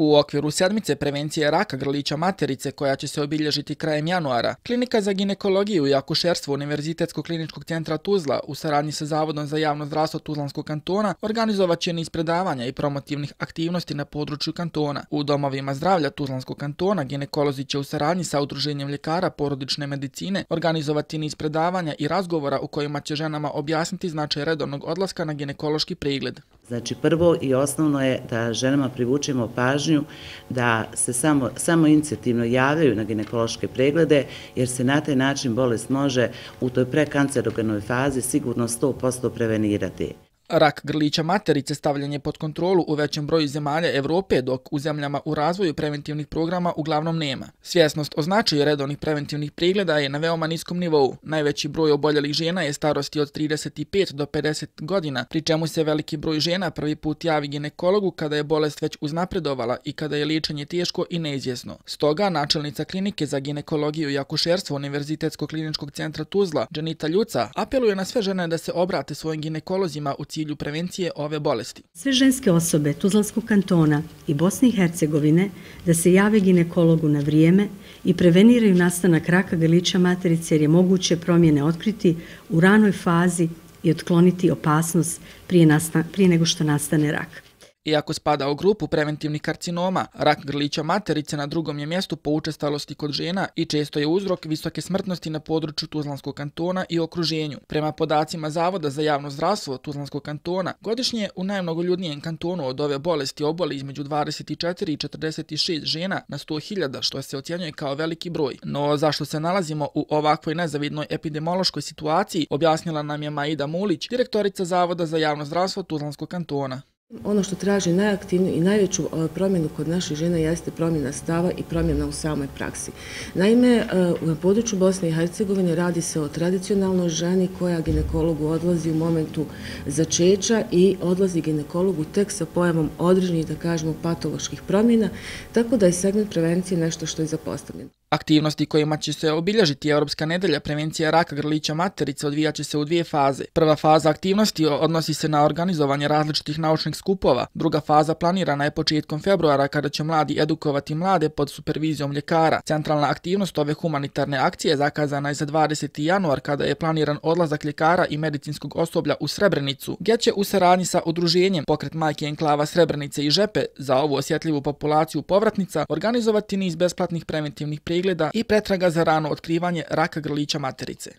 U okviru sedmice prevencije raka grlića materice koja će se obilježiti krajem januara, Klinika za ginekologiju i akušerstvo Univerzitetskog kliničkog centra Tuzla u saradnji sa Zavodom za javno zdravstvo Tuzlanskog kantona organizovat će niz predavanja i promotivnih aktivnosti na području kantona. U domovima zdravlja Tuzlanskog kantona ginekolozi će u saradnji sa Udruženjem ljekara porodične medicine organizovati niz predavanja i razgovora u kojima će ženama objasniti značaj redovnog odlaska na ginekološki pregled. Znači, prvo i osnovno je da ženama privučemo pažnju da se samo inicijativno javljaju na ginekološke preglede, jer se na taj način bolest može u toj prekancerogenoj fazi sigurno 100% prevenirati. Rak grlića materice stavljen je pod kontrolu u većem broju zemalja Evrope, dok u zemljama u razvoju preventivnih programa uglavnom nema. Svjesnost o značaju redovnih preventivnih pregleda je na veoma niskom nivou. Najveći broj oboljelih žena je starosti od 35 do 50 godina, pri čemu se veliki broj žena prvi put javi ginekologu kada je bolest već uznapredovala i kada je liječenje teško i neizvjesno. Stoga, načelnica Klinike za ginekologiju i akušerstvo Univerzitetskog kliničkog centra Tuzla, Dženita Ljuca, apeluje na sve žene da se obrate svojim ginekolozima u cilju prevencije ove bolesti. Sve ženske osobe Tuzlanskog kantona i Bosne i Hercegovine da se jave ginekologu na vrijeme i preveniraju nastanak raka grlića materice, jer je moguće promjene otkriti u ranoj fazi i otkloniti opasnost prije nego što nastane rak. Iako spada u grupu preventivnih karcinoma, rak grlića materice na drugom je mjestu po učestalosti kod žena i često je uzrok visoke smrtnosti na području Tuzlanskog kantona i okruženju. Prema podacima Zavoda za javno zdravstvo Tuzlanskog kantona, godišnje u najmnogoljudnijem kantonu od ove bolesti oboli između 24 i 46 žena na 100.000, što se ocjenjuje kao veliki broj. No zašto se nalazimo u ovakvoj nezavidnoj epidemiološkoj situaciji, objasnila nam je Maida Mulić, direktorica Zavoda za javno zdravstvo Tuzlanskog kantona. Ono što traži najaktivniju i najveću promjenu kod naših žena jeste promjena stava i promjena u samoj praksi. Naime, na području Bosne i Hercegovine radi se o tradicionalnoj ženi koja ginekologu odlazi u momentu začeća i odlazi ginekologu tek sa pojavom određenih, da kažemo, patoloških promjena, tako da je segment prevencije nešto što je zapostavljeno. Aktivnosti kojima će se obilježiti Europska nedelja prevencija raka grlića materice odvijaće se u dvije faze. Prva faza aktivnosti odnosi se na organizovanje različitih naučnih skupova. Druga faza planirana je početkom februara kada će mladi edukovati mlade pod supervizijom ljekara. Centralna aktivnost ove humanitarne akcije zakazana je za 20. januar kada je planiran odlazak ljekara i medicinskog osoblja u Srebrenicu, gdje će u saradnji sa udruženjem Pokret majke enklava Srebrenice i Žepe za ovu osjetljivu populaciju povratnica organizovati niz besplatnih preventivnih pregleda i pretraga za rano otkrivanje raka grlića materice.